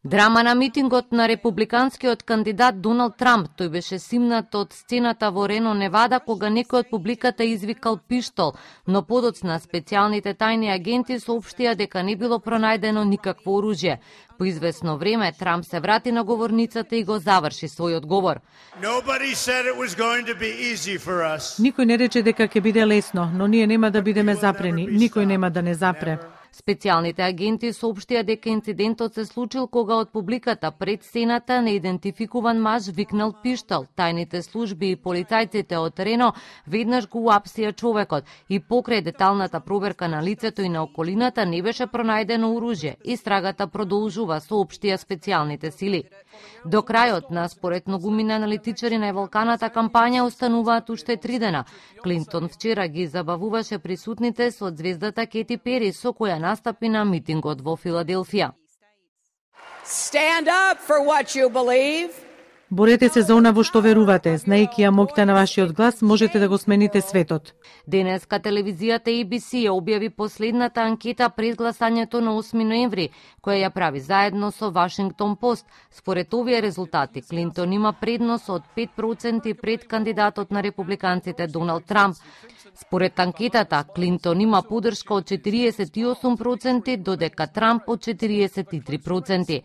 Драма на митингот на републиканскиот кандидат Доналд Трамп. Тој беше симнат од сцената во Рено, Невада, кога некој од публиката извикал пиштол, но подоцна специјалните тајни агенти соопштија дека не било пронајдено никакво оружје. По извесно време Трамп се врати на говорницата и го заврши својот говор. Никој не рече дека ќе биде лесно, но ние нема да бидеме запрени. Никој нема да не запре. Специјалните агенти соопштија дека инцидентот се случил кога од публиката пред сцената неидентификуван маж викнал пиштол. Тајните служби и полицајците од Рено веднаш го уапсија човекот и покрај деталната проверка на лицето и на околината не беше пронајдено оружје. Истрагата продолжува, соопштија специјалните сили. До крајот на според многумина аналитичари на еволканата кампања остануваат уште 3 дена. Клинтон вчера ги забавуваше присутните со звездата Кети Пери, со која настапи на митингот во Филаделфија. Stand up for what you believe. Борете се за она во што верувате. Знаејќи ја моќта на вашиот глас, можете да го смените светот. Денеска телевизијата ABC ја објави последната анкета пред гласањето на 8 ноември, која ја прави заедно со Вашингтон Пост. Според овие резултати, Клинтон има предност од 5% пред кандидатот на републиканците Доналд Трамп. Според анкетата, Клинтон има поддршка од 48%, додека Трамп од 43%.